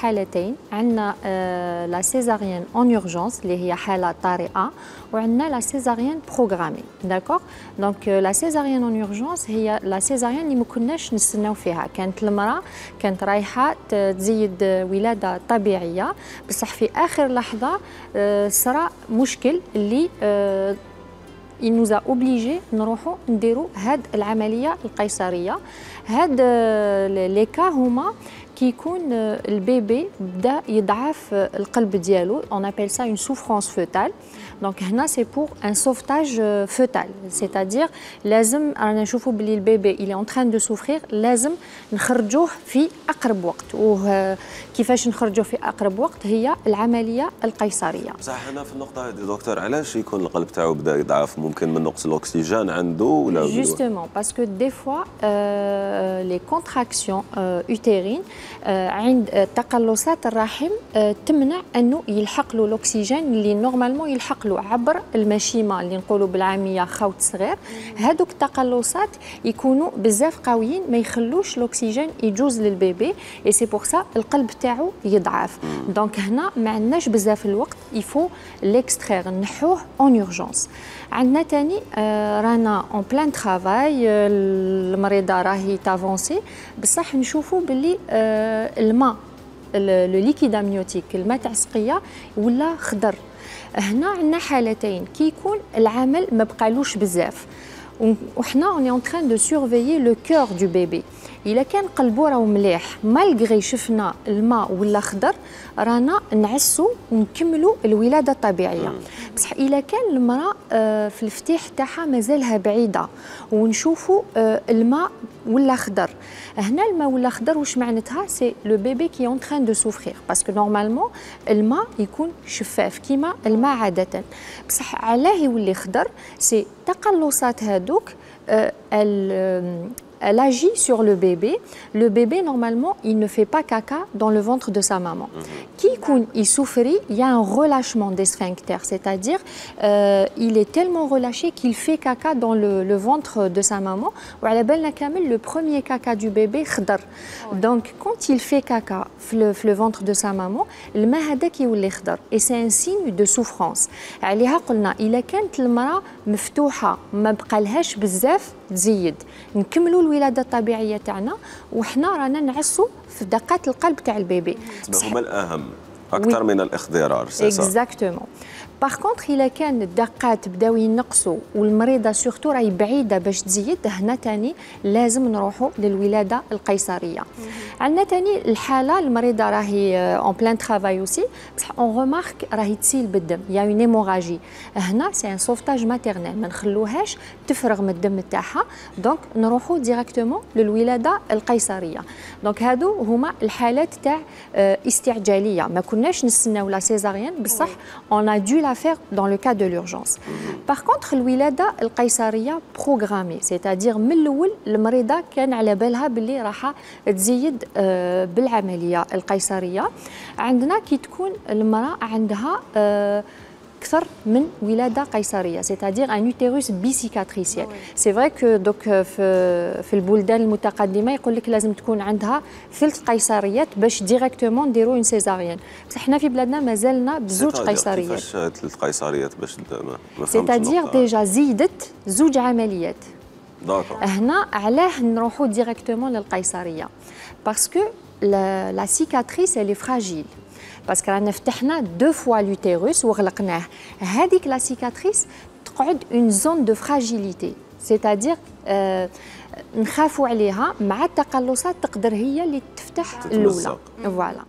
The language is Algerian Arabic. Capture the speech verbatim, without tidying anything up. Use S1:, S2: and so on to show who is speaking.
S1: حالتين عندنا لا سيزاريان اون اورجونس اللي هي حاله طارئه وعندنا لا سيزاريان بروغرامي داكوغ دونك لا سيزاريان اون اورجونس هي لا سيزاريان اللي ما كناش نستناو فيها كانت المراه كانت رايحه تزيد ولاده طبيعيه بصح في اخر لحظه صرا مشكل اللي il nous a obligé نروحوا نديروا هاد العمليه القيصريه هاد لي كا هما كي يكون البيبي بدا يضعف القلب ديالو on appelle ça une souffrance fœtale donc هنا c'est pour un sauvetage fœtal c'est-à-dire لازم رانا نشوفوا بلي البيبي il est en train de souffrir لازم نخرجوه في اقرب وقت وكيفاش نخرجوه في اقرب وقت هي العمليه القيصريه.
S2: بصح هنا في النقطه هذه دكتور علاش يكون القلب تاعو بدا يضعف ممكن من نقص الاكسجين عنده ولا
S1: justement parce que des fois euh, les contractions euh, utérines عند تقلصات الرحم تمنع انه يلحق له الاكسجين اللي نورمالمون يلحق له عبر المشيمه اللي نقولوا بالعاميه خوت صغير هذوك التقلصات يكونوا بزاف قويين ما يخلوش الاكسجين يجوز للبيبي اي سي بور سا القلب تاعو يضعف دونك هنا ما عندناش بزاف الوقت يفو ليكسترير نحوه اون اورجونس. عندنا ثاني آه رانا اون بلان ترافاي المريضه راهي تافونسي بصح نشوفوا باللي آه الماء لو ليكيد امنيوتيك الماء تاع السقيه ولا خضر. هنا عندنا حالتين كي يكون العمل ما بقالوش بزاف وحنا اوني اون تران دو سورفيي لو كور دو بيبي الا كان قلبو راه مليح مالغري شفنا الماء ولا خضر رانا نعسو ونكملوا الولاده الطبيعيه بصح الا كان المراه في الفتيح تاعها مازالها بعيده ونشوفوا الماء ولا خضر هنا الماء ولا خضر واش معناتها سي لو بيبي كي اون تران دو سوفرير باسكو نورمالمون الماء يكون شفاف كيما الماء عاده بصح علاه يولي خضر سي تقلصات هادوك elle agit sur le bébé. Le bébé, normalement, il ne fait pas caca dans le ventre de sa maman. Qui il souffre, il y a un relâchement des sphincters, c'est-à-dire euh, il est tellement relâché qu'il fait caca dans le, le ventre de sa maman. Le premier caca du bébé, khadar. Donc, quand il fait caca dans le, le ventre de sa maman, le mahadak يولي khadar. Et c'est un signe de souffrance. عليها قلنا إلا كانت المرأة مفتوحة ما بقالهاش بزاف تزيد نكملوا الولاده الطبيعيه تاعنا وحنا رانا نعسوا في دقات القلب تاع البيبي
S2: هما الاهم اكثر من الاخضرار سي صح
S1: اكزاكتومون باغ كونطخ الا كان الدقات بداو ينقصوا والمريضه سورتو راهي بعيده باش تزيد هنا ثاني لازم نروحوا للولاده القيصريه. عندنا ثاني الحاله المريضه راهي اون بلان ترافاي اوسي بصح اون ريمارك راهي تسيل بالدم يا اون هيموراجي هنا سي ان سوفتاج ماتيرنال ما نخلوهاش تفرغ من الدم تاعها دونك نروحوا ديريكتومون للولاده القيصريه. دونك هادو هما الحالات تاع استعجاليه ما كناش نستناو لا سيزاريان بصح اون ا دو faire dans le cas de l'urgence. Par contre, الولادة القيصرية programmée, c'est-à-dire من الأول المريضة كان على بالها باللي راح تزيد بالعملية القيصرية. عندنا كي تكون المرأة عندها أكثر من ولادة قيصرية c'est-à-dire un utérus بيسيكاتريسيال. سي فري كو دوك في في البلدان المتقدمة يقول لك لازم تكون عندها ثلث قيصريات باش ديريكتومون نديروا اون سيزاريان بصح حنا في بلادنا مازالنا بزوج قيصريات.
S2: كيفاش ثلث قيصريات باش ما
S1: c'est-à-dire ديجا زيدت زوج عمليات.
S2: داكور.
S1: هنا علاه نروحوا ديريكتومون للقيصرية باسكو لا سيكاتريس elle est fragile. باسكو رانا فتحنا دو فوا لوتيروس وغلقناه هذيك لا سيكاتريس تقعد اون زون دو فراجيليتي سيتادير آه نخافوا عليها مع التقلصات تقدر هي اللي تفتح الاولى فوالا.